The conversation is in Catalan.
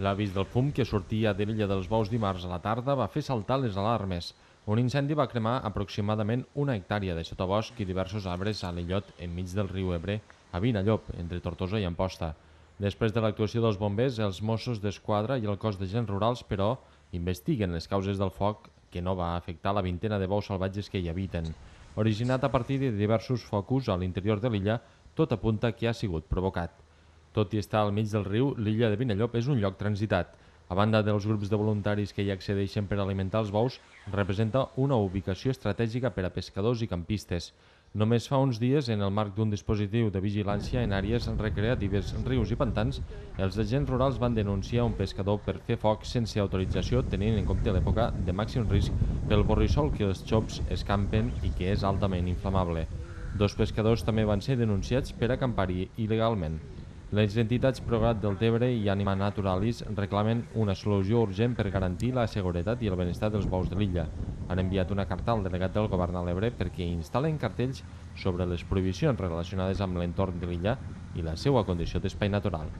L'avís del fum que sortia de l'illa dels Bous dimarts a la tarda va fer saltar les alarmes. Un incendi va cremar aproximadament una hectàrea de sotabosc i diversos arbres a l'illot enmig del riu Ebre, a Vinallop, entre Tortosa i Amposta. Després de l'actuació dels bombers, els Mossos d'Esquadra i el cos d'agents rurals, però, investiguen les causes del foc que no va afectar la vintena de bous salvatges que hi habiten. Originat a partir de diversos focus a l'interior de l'illa, tot apunta que ha sigut provocat. Tot i estar al mig del riu, l'illa de Vinallop és un lloc transitat. A banda dels grups de voluntaris que hi accedeixen per alimentar els bous, representa una ubicació estratègica per a pescadors i campistes. Només fa uns dies, en el marc d'un dispositiu de vigilància en àrees recreatives, rius i pantans, els agents rurals van denunciar un pescador per fer foc sense autorització, tenint en compte l'època de màxim risc pel borrissol que els xops escampen i que és altament inflamable. Dos pescadors també van ser denunciats per acampar-hi il·legalment. Les entitats Prograt del Tebre i Anima Naturalis reclamen una solució urgent per garantir la seguretat i el benestar dels bous de l'illa. Han enviat una carta al delegat del govern a l'Ebre perquè instal·len cartells sobre les prohibicions relacionades amb l'entorn de l'illa i la seva condició d'espai natural.